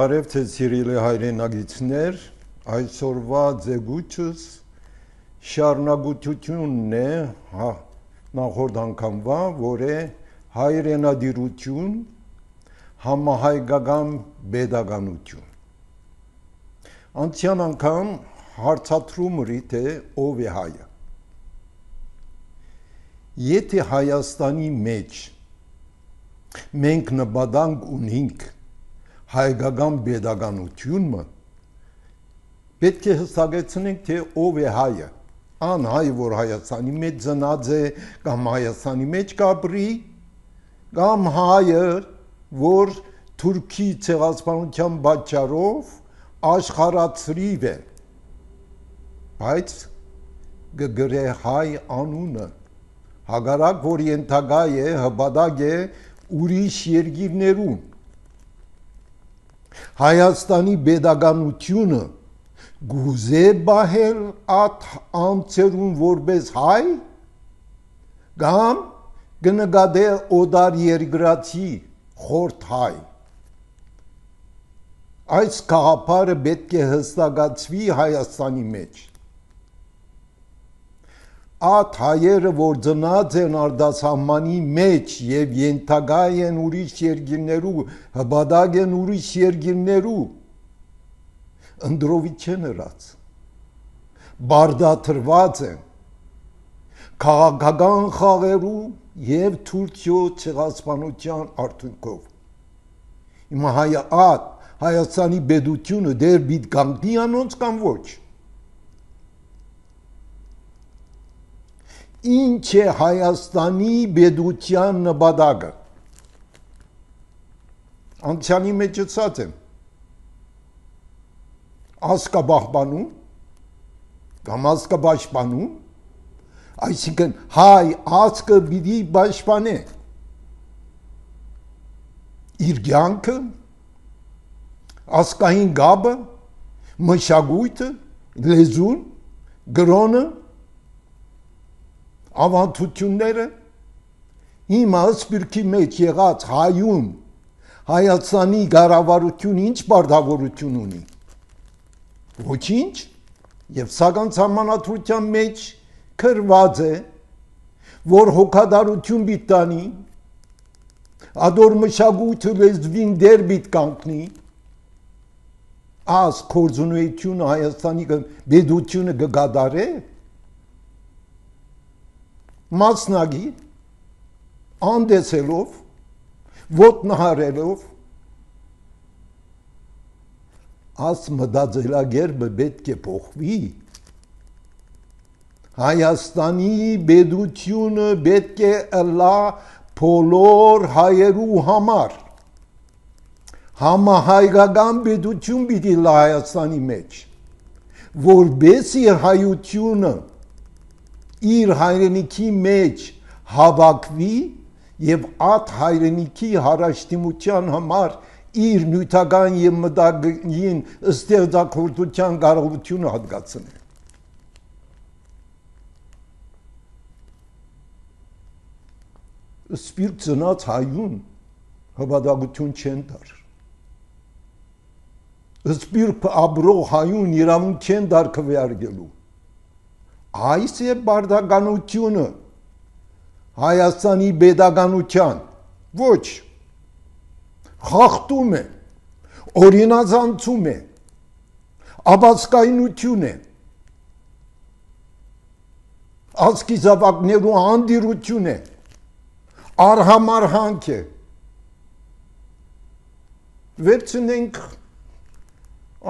Բարև թե սիրելի հայրենագիտներ, այսօրվա ձգուչս շարունակությունն է նախորդ անգամվա, որ է հայրենադիրություն, համահայկական pedagogiություն։ Անցյալ անգամ հարցադրում էի, թե ով է հայը։ Եթե Հայաստանի մեջ մենք նպատակ ունենք հայկական pedagogiությունը, պետք է հստակեցնենք, թե ով է հայը։ Ան հայ, որ Հայաստանի մեջ ծնած է, կամ Հայաստանի մեջ կապրի, կամ հայը, որ Թուրքի ցեղասպանության պատճառով աշխարհացրիվ է, բայց գգրե հայ անունը, հակառակ որ ենթակա է, հպատակ է ուրիշ երկիրներում։ Հայաստանի pedagogiությունը գուզե բահել at անձերուն որպես հայ, կամ կնկատե օտար երկրացի խորթ հայ։ Այս գաղափարը պետք է հստակացվի Հայաստանի մեջ։ At հայերը, որ ծնած են արտասահմանի մեջ եւ ենթակա են ուրիշ երկիրներու, հպատակ են ուրիշ երկիրներու, ընդրովի չեն ըրած, բարդաթրված են, քաղաքական խաղերու եւ Թուրքիո ցեղասպանության արդյունքով։ Հիմա Հայաստանի պետությունը դեր պիտի կանգնի անոնց կամ ոչ։ Ինչ է Հայաստանի պետության նպատակը։ Անցյալի մեջ ասած եմ, ազգապահպանում կամ ազգապաշտպանում, այսինքն հայ ազգը պիտի պաշտպանե իր կյանքը, ազգային գաբը, մշակույթը, լեզուն, գրոնը, ավանդությունները։ Հիմա սպիրկի մեջ եղած հայուն Հայաստանի կառավարությունը ինչ պարտավորություն ունի։ Ոչինչ, եւ սակայն սահմանադրության մեջ գրված է, որ հոգադարություն պիտի տանի, ադոր մշակույթը լեզվին դեր պիտի կանգնի, աս կորձունեությունը Հայաստանի պետությունը կգադարե, մասնագի, անդեսելով, ոտնահարելով, աս մտածելակերպը պետք է փոխվի։ Հայաստանի պետությունը պետք է ըլլա բոլոր հայերու համար։ Համահայկական պետություն պիտի լա Հայաստանի մեջ, որբեսի հայությունը իր հայրենիքի մեջ հավաքվի եւ at հայրենիքի հարաշտիմության համար իր նյութական եւ մտագին ստեղծագործության կարողությունը հատկացնի։ Սպիրտ ծնած հայուն հպատակություն չեն տար։ Սպիրտ ապրող հայուն իրավունք չեն տար քվեարկելու։ Այս է բարդականությունը Հայաստանի pedagogiության, ոչ, խախտում է, օրինազանցում է, ապացկայնություն է, ազգի զավակներու անդիրություն է, արհամարհանք է։ Վերցնենք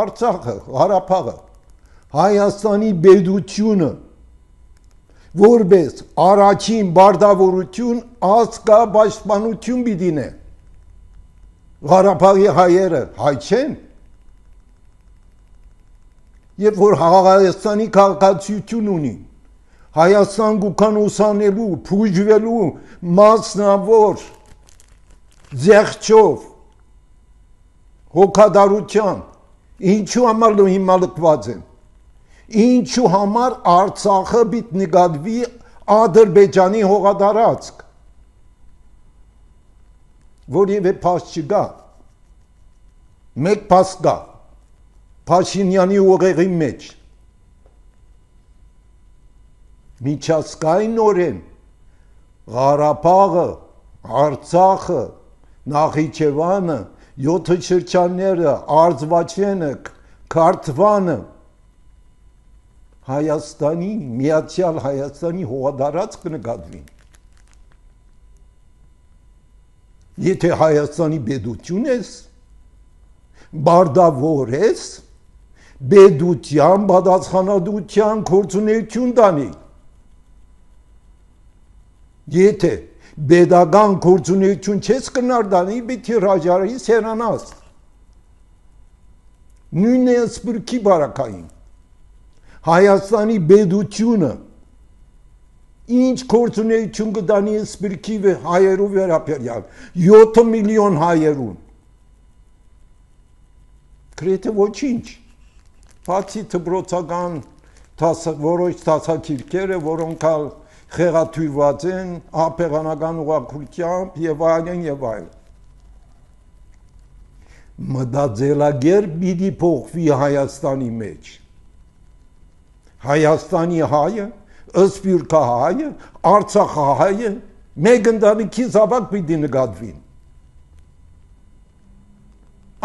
Արցախը, Ղարաբաղը, Հայաստանի պետությունը, որպես առաջին բարդավորություն ազգապաշտպանություն պիտի է։ Ղարաբաղի հայերը հայ չեն։ Երբ որ Հայաստանի քաղաքացիություն ունի, Հայաստան գուքան ուսանելու, փուժվելու մասնավոր ձեղչով, հոգադարության, ինչու համար հիմա լքված են։ Ինչու համար Արցախը պիտի նկատվի Ադրբեջանի հողատարածք, որևէ փաստ չկա։ մեկ փաստ կա Փաշինյանի ուղեղի մեջ միջազգայինորեն Ղարաբաղը, Արցախը, Նախիջևանը, 7 շրջանները, Արձվաչենը, Քարթվանը Հայաստանի, Միացյալ Հայաստանի հողադարձ կնկատվին։ Եթե Հայաստանի պետություն ես, բարդավոր ես, պետության, պատասխանատվության գործունեություն տանի։ Եթե պետական գործունեություն չես կնարդանի, պետք է հրաժարվի սերանաս։ Նույնն է Սփյուռքի բարակային։ Հայաստանի պետությունը ինչ գործունեություն կտանի Սփյուռքի հայերու վերաբերյալ 7 միլիոն հայերուն։ Գրեթե ոչինչ։ Բացի դպրոցական որոշ դասակիրքերը, որոնք խեղաթյուրված են ափեղանական ուղղությամբ եւ այլն եւ այլն։ Մտածելակերպ պիտի փոխվի Հայաստանի մեջ։ Հայաստանի հայը, Սփյուռքահայը, Արցախահայը մեկ ընտանիքի զավակ պիտի նկատվին։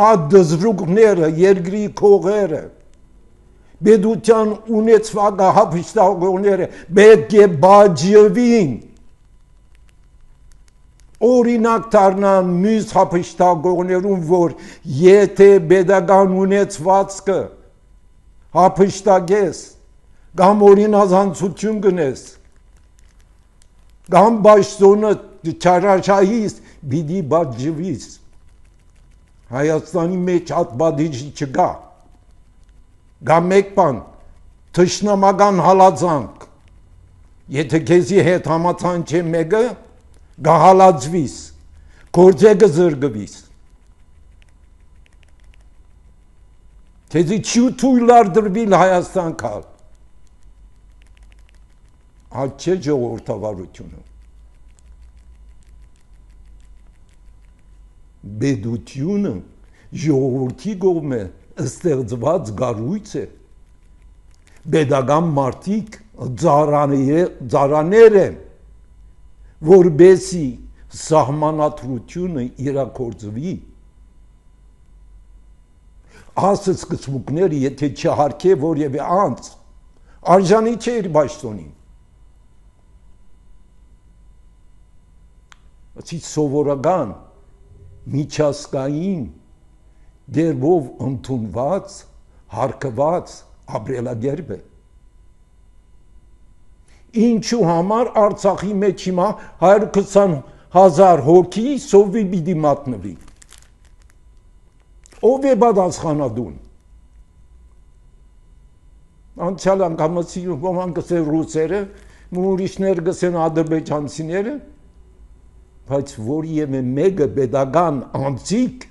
Այդ դժվարությունները, երկրի քողերը, պետության ունեցված հապշտակողները պետք է բաժանվին։ Օրինակ դառնան մյուս հապշտակողներուն, որ եթե պետական ունեցվածքը հապշտակես կամ օրինազանցություն գնես, կամ բաշտոնը չարաշահիս, պիտի բաժվիս։ Հայաստանի մեջ այդ բաժիջը չկա։ Գա մեկ բան, թշնամական հալածանք։ Եթե քեզի հետ համացան չէ մեկը, գա հալածվիս, գործեգը զրկվիս։ Քեզի չի թույլ ardրվիլ Հայաստան կալ։ Այդ չէ ժողովրդավարությունը։ Պետությունը ժողովրդի կողմը ստեղծված գառույց է։ Պետական մարդիկ ծառաներ են, որբեսի սահմանադրությունը իրագործվի։ Ասը սկզբունքները, եթե չհարկե որևէ անձ, արժանի չէ իր պաշտոնին։ Ասի սովորական միջազգային դերբով ընդունված, հարկված ապրելակերպ է։ Ինչու համար Արցախի մեջ հիմա 120,000 հոգի սովի պիտի մատնվի։ Ով է պատասխանատուն։ Անցյալ անգամացի ոմանք կսեն ռուսերը, ուրիշներ կսեն ադրբեջանցիները, բայց որևէ մեկը պետական անձիկ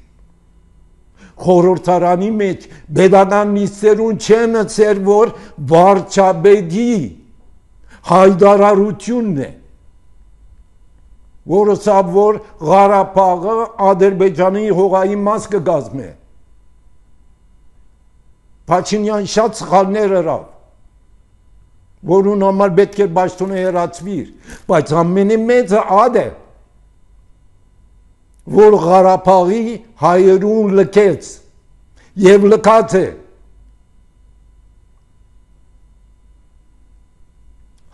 խորհրդարանի մեջ պետական նիստերուն չեն ցեր, որ վարչապետի հայտարարությունն է, որը սա որ Ղարաբաղը Ադրբեջանի հողայի մաս կգազմե։ Փաշինյան շատ սխալներ արավ, որուն համար պետք է պաշտոնը հեռացվիր, բայց ամենամեծը ադը որ Ղարաբաղի հայերուն լքեց եւ լքած է։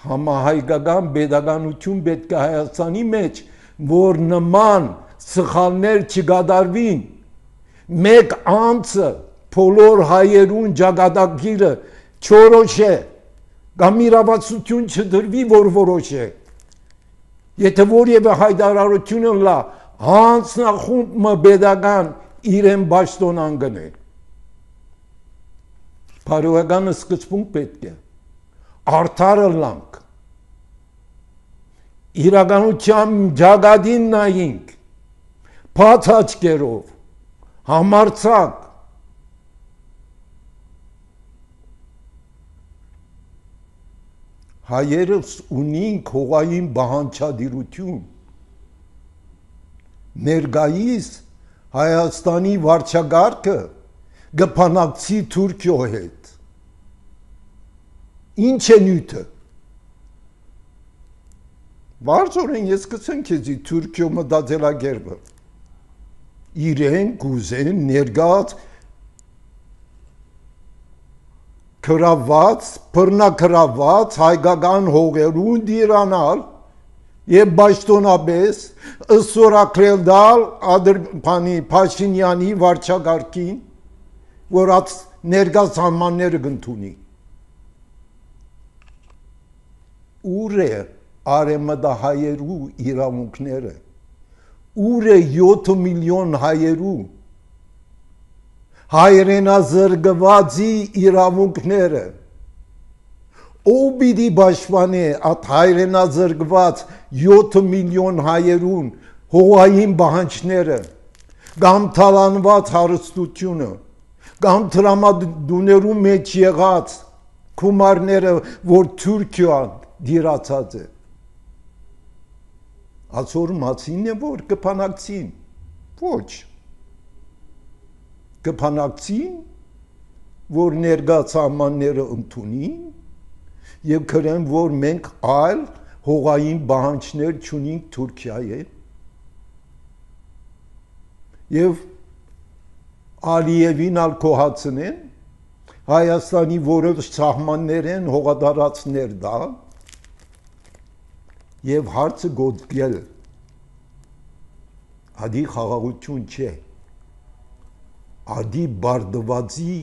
Համահայկական պետականություն պետք է Հայաստանի մեջ, որ նման սխալներ չկատարվին, մեկ անձը բոլոր հայերուն ճակատագիրը չորոշե, կամ իրավասություն չդրվի, որ որոշե։ Եթե որևէ հայտարարություն լա, հանձնախումբը պետական իրեն պաշտոն անգնե։ Բարոյական սկզբունք պետք է, արդարը լանք, իրականության ճակատին նայինք, բաց աչքերով, համարձակ։ Հայերս ունին հողային բանջարդիրություն, ներկայիս Հայաստանի վարչագահը գփանակցի Թուրքիո հետ։ Ինչ է նյութը։ Բարձորեն ես կսեմ քեզի Թուրքիո մտածելակերպը։ Իրեն կուզեն ներգած քրաված, բռնակրաված հայկական հողերուն դիրանալ եւ պաշտոնապես ըսորակրել դալ Ադրբանի Փաշինյանի վարչագահին, որ այդ ներգած համանները կընդունի։ Ուր է արեմտահայերու իրավունքները, ուր է 7 միլիոն հայերու հայրենազրկվածի իրավունքները, ով պիտի պաշտպանի այդ հայրենազրկված 7 միլիոն հայերուն հողային պահանջները, կամ թալանված հարստությունը, կամ տրամադուներու մեջ եղած գումարները, որ Թուրքիան դիրացած է։ Այսօր մացին է, որ կփանակցին։ Ոչ։ Կփանակցին, որ ներգած համանները ընդունին եւ քրեն, որ մենք այլ հողային պահանջներ չունենք Թուրքիայի եւ Ալիևին ալ կոհացնեն Հայաստանի որոշ սահմաններեն հողատարածքներ դա եւ հարցը գոտկել ադի խաղաղություն չէ, ադի բարդվածի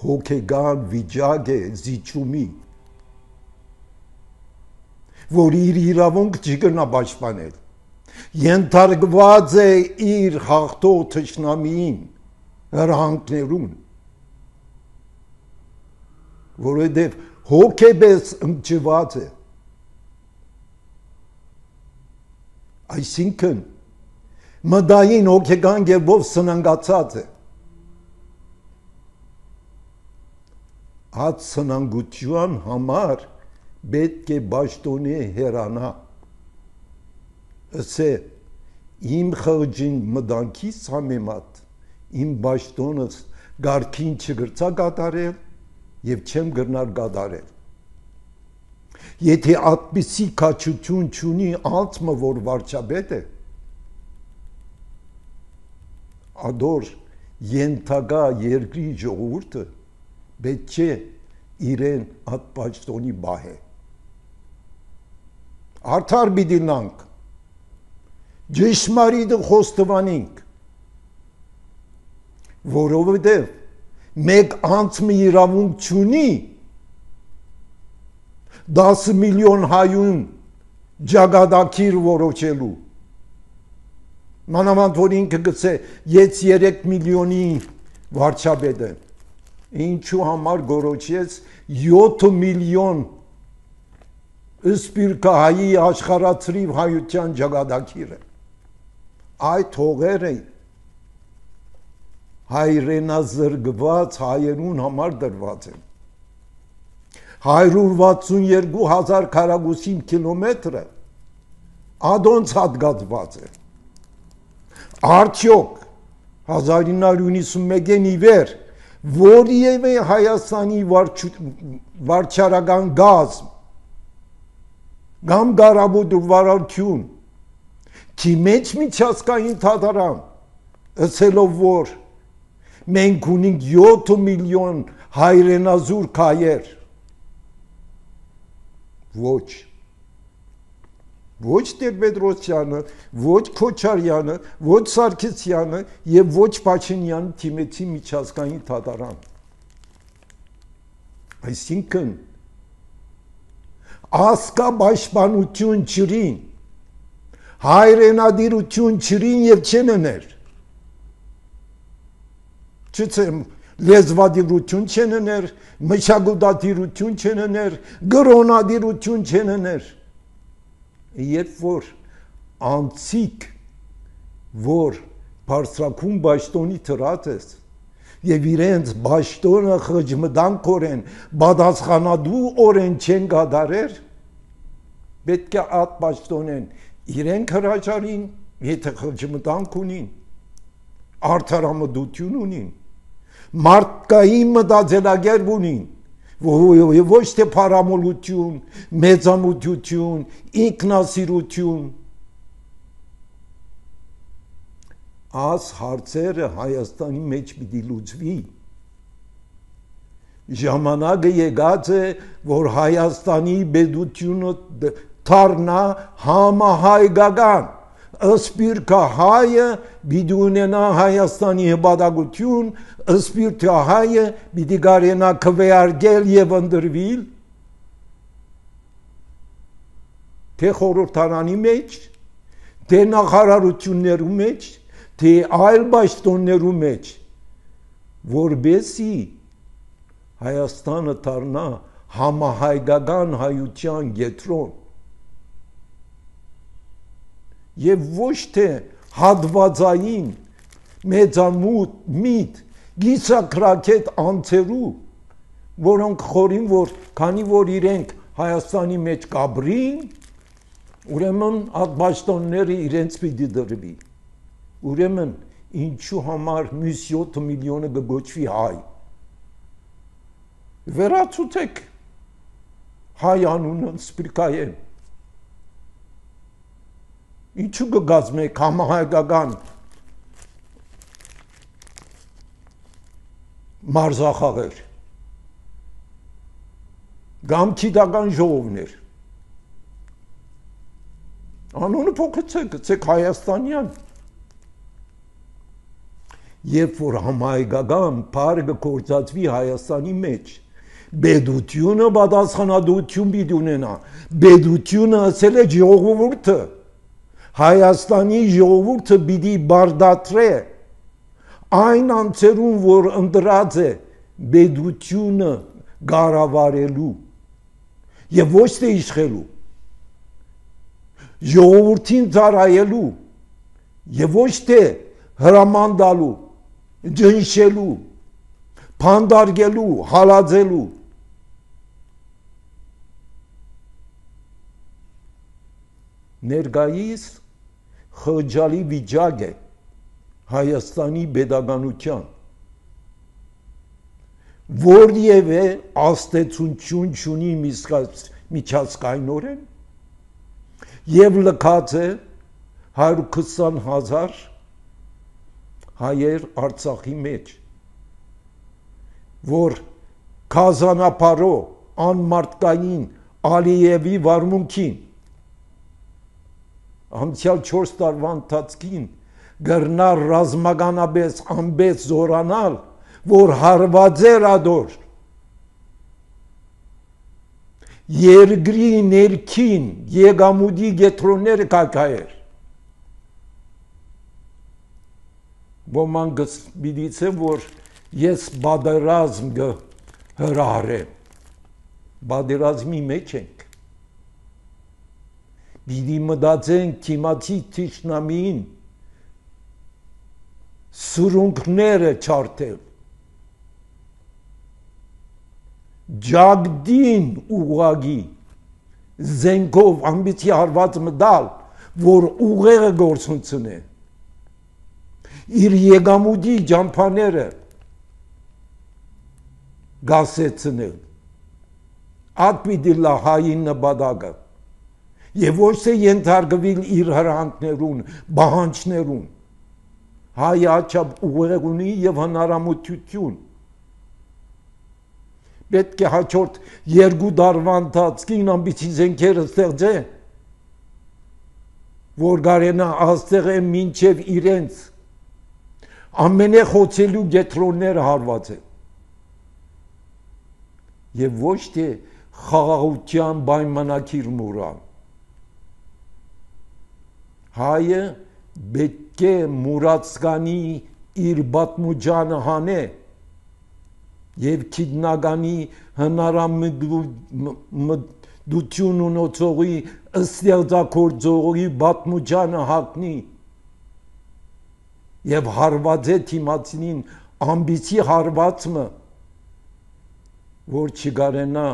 հոգեգան վիճակ է զիջումի, որ իր իրավունք չկրնա պաշտպանել, ենթարկված է իր հաղթող թշնամիին հրահանգներուն, որովհետև հոգեպես ընկճված է, այսինքն մտային հոգեգան կերպով սնանկացած է, այդ սնանկության համար պետք է պաշտոնի հեռանա, ասե իմ խղճին մտանքից համեմատ իմ պաշտոնս գարքին չգրծա կատարել եւ չեմ գրնար կատարել։ Եթե այդպիսի քաջություն չունի անցմը, որ վարչապետ է, ադոր ենթակա երկրի ժողովուրդը պետք չէ իրեն այդ պաշտոնի բահե։ Արդար պիտի լանք, ճշմարիտը խոստովանենք, որովհետև մեկ անցմը իրավունք չունի 10 միլիոն հայուն ջագադակիր որոչելու։ Մանավանդ որ ինքը գցե ես 3 միլիոնի վարչապետ եմ, ինչու համար գորոչեց 7 միլիոն սպիրկահայի աշխարհացրիվ հայության ջագադակիրը։ Այդ հողերը հայրենազրկված հայերուն համար դրված են։ 162,000 քառակուսի կիլոմետրը ադոնց հատկացված է։ Արդյոք 1991-ին ի վեր որևէ Հայաստանի վարչարական գազմ կամ գարաբուտ վարարություն չի մեջ միջազգային թատարան ըսելով որ մենք ունենք 7 միլիոն հայրենազուրկ հայեր, ոչ Տեր-Պետրոսյանը, ոչ Քոչարյանը, ոչ Սարգսյանը եւ ոչ Փաշինյանը թիմեցի միջազգային թատարան։ Այսինքն ասկա պաշտպանություն չրին, հայրենադիրություն չրին եւ չեններ։ Չծեմ լեզվադիրություն չեններ, մշակութադիրություն չեններ, գրոնադիրություն չեններ։ Երբ որ անցիկ, որ բարձրակում բաշտոնի տրած ես եւ իրենց բաշտոնը խճմտանքորեն պատասխանատու օրեն չեն կատարեր, պետք է այդ բաշտոնեն իրենք հրաժարին, եթե խճմտանք ունին, արդարամտություն ունին, մարդկային մտածելակերպ ունին, ոչ թե փարամոլություն, մեծամտություն, ինքնասիրություն։ Այս հարցերը Հայաստանի մեջ պիտի լուծվի։ Ժամանակը եկած է, որ Հայաստանի պետությունը դառնա համահայկական։ Սպիրկը հայը պիտի ունենա Հայաստանի հպատակություն, սպիրկը հայը պիտի կարենա քվեարկել եւ ընտրվել թե խորհրդարանի մեջ, թե նախարարություններու մեջ, թե այլ պաշտոններու մեջ, որբեսի Հայաստանը դառնա համահայկական հայության կենտրոն եւ ոչ թե հատվածային մեծամիտ գիսակրակետ անձերու, որոնք խորին որ քանի որ իրենք Հայաստանի մեջ կաբրին, ուրեմն այդ պաշտոնները իրենց պիտի դրվի։ Ուրեմն ինչու համար մյուս 7 միլիոնը կգոչվի հայ։ Վերացուցեք հայ անունը սպիրկայեն։ Ինչու կգազմեք համահայկական մարզախաղեր, կամ գիտական ժողովներ։ Անունը փոխեցեք, գցեք Հայաստանյան։ Երբ որ համահայկական բառը կգործածվի Հայաստանի մեջ, պետությունը պատասխանատվություն պիտի ունենա։ Պետությունը ասել է ժողովուրդը, Հայաստանի ժողովուրդը պիտի բարդատրե այն անձերուն, որ ընտրած է պետությունը կառավարելու եւ ոչ թե իշխելու, ժողովրդին ծառայելու եւ ոչ թե հրամանդալու, ջնշելու, փանդարգելու, հալածելու։ Ներկայիս խղճալի վիճակ է Հայաստանի պետականության, որևէ աստեցություն չունի միջազգայնորեն եւ լքած է 120,000 հայեր Արցախի մեջ, որ քազանապարո անմարտկային Ալիևի վարմունքին անցյալ 4 տարվա ընթացքին գրնար ռազմականապես ամբես զորանալ, որ հարված էր ադոր երկրի ներքին եկամուտի գետրոնները կակայեր։ Ոմանք գիտիցեմ, որ ես բادرազմ հրահարեմ, բادرազմի մեջ ենք, պիտի մտածենք քիմացի թշնամին սուրունքները չարթել, ջագդին ուղագի զենքով ամբիցի հարված մտալ, որ ուղեղը գործունցնե, իր եկամուտի ջամփաները գասեցնել, այդ պիտի լա հայի նպատակը եւ ոչ թե ենթարկվել իր հրանքներուն, բանջներուն։ Հայը աչափ ուղեղ ունի եւ հնարամտություն։ Պետք է հաջորդ 2 տարվա ընթացքին ամբիցի զենքերը ստեղծե, որ գարենա աստեղը մինչև իրենց ամենախոցելու գետրոնները հարված է եւ ոչ թե խաղաղության պայմանագիր մուրան։ Հայը պետք է մուրացկանի իր պատմուջանը հանե եւ քիդնագանի հնարամտություն ունեցողի ստեղծագործողի պատմուջանը հագնի եւ հարված է թիմացին ամբիցի հարվածը, որ չգարենա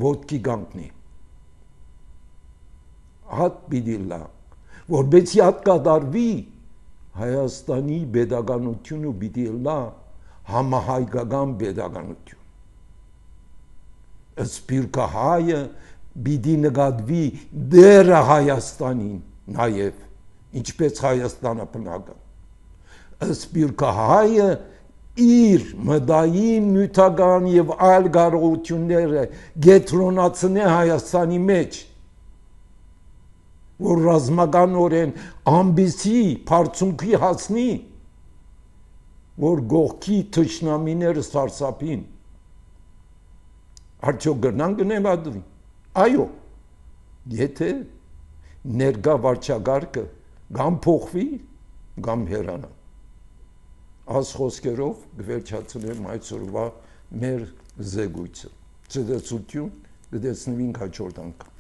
ոտքի կանգնի։ Հատ պիտի լա, որբեցի հատ կատարվի, Հայաստանի pedagogiությունը պիտի լա համահայկական pedagogiություն։ Սփյուռքը հայը պիտի նկատվի դերը Հայաստանին նաև, ինչպես Հայաստանը բնական։ Սփյուռքը հայը իր մտային, նյութական եւ այլ կարողությունները գետրոնացնե Հայաստանի մեջ, որ ռազմականորեն ամբիսի բարձունքի հասնի, որ գողքի թշնամիները սարսափին։ Արդյոք գրնան գնելադվի։ Այո, եթե ներկա վարչակարգը կամ փոխվի, կամ հեռանա։ Այս խոսքերով կվերջացնեմ այսօրվա մեր զեկույցը։ Ցտեսություն, կտեսնվենք հաջորդ անգամ։